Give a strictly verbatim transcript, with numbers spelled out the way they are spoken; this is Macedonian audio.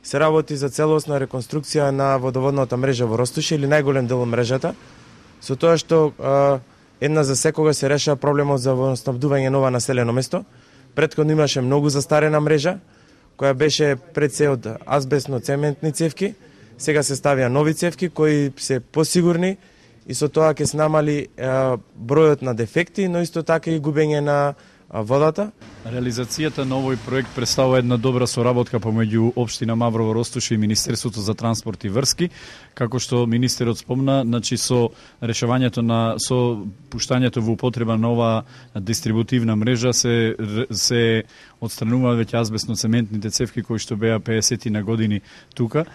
Се работи за целосна реконструкција на водоводната мрежа во Ростуша или најголем дел од мрежата, со тоа што а, една за секогаш се решава проблемот за водоснабдување нова населено место. Претходно имаше многу застарена мрежа, која беше пред се од азбестно-цементни цевки, сега се ставија нови цевки кои се посигурни и со тоа ќе се намали а, бројот на дефекти, но исто така и губење на водата. Реализацијата на овој проект представува една добра соработка помеѓу Општина Маврово Ростуша и Министерството за транспорт и врски, како што министерот спомна, значи со решавањето на со пуштањето во употреба на ова дистрибутивна мрежа се се отстрануваат веќе азбестно-цементните цевки кои што беа педесет на години тука.